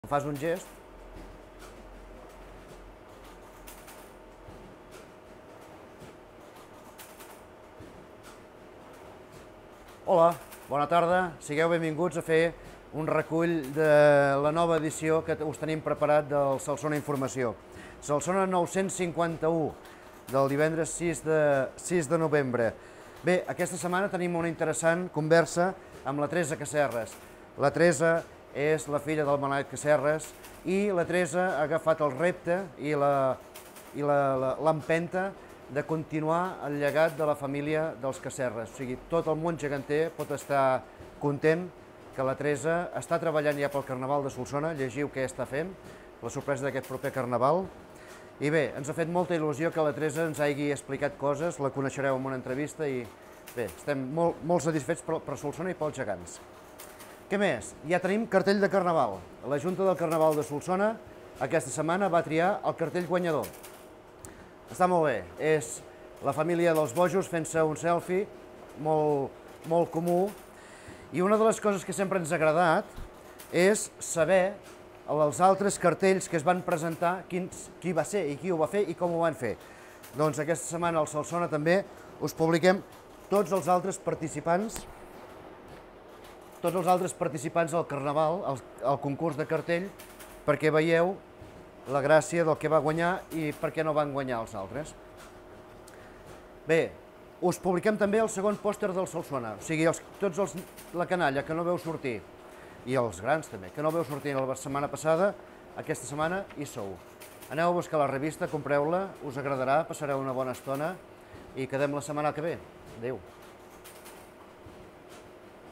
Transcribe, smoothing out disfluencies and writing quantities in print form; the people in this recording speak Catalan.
Em fas un gest? Hola, bona tarda, sigueu benvinguts a fer un recull de la nova edició que us tenim preparat del Solsona Informació. Solsona 951, del divendres 6 de novembre. Bé, aquesta setmana tenim una interessant conversa amb la Teresa Casserres. La Teresa és la filla del Manel Casserres i la Teresa ha agafat el repte i l'empenta de continuar el llegat de la família dels Casserres. O sigui, tot el món geganter pot estar content que la Teresa està treballant ja pel Carnaval de Solsona, llegiu què està fent, la sorpresa d'aquest proper Carnaval. I bé, ens ha fet molta il·lusió que la Teresa ens hagi explicat coses, la coneixereu en una entrevista i bé, estem molt satisfets per Solsona i pels gegants. Què més? Ja tenim cartell de Carnaval. La Junta del Carnaval de Solsona aquesta setmana va triar el cartell guanyador. Està molt bé, és la família dels bojos fent-se un selfie, molt comú, i una de les coses que sempre ens ha agradat és saber els altres cartells que es van presentar, qui va ser i qui ho va fer i com ho van fer. Doncs aquesta setmana al Solsona també us publiquem tots els altres participants al Carnaval, al concurs de cartell, perquè veieu la gràcia del que va guanyar i per què no van guanyar els altres. Bé, us publiquem també el segon pòster del Solsona, o sigui, tots la canalla que no veu sortir, i els grans també, que no veu sortir la setmana passada, aquesta setmana hi sou. Aneu a buscar la revista, compreu-la, us agradarà, passareu una bona estona i quedem la setmana que ve. Adéu.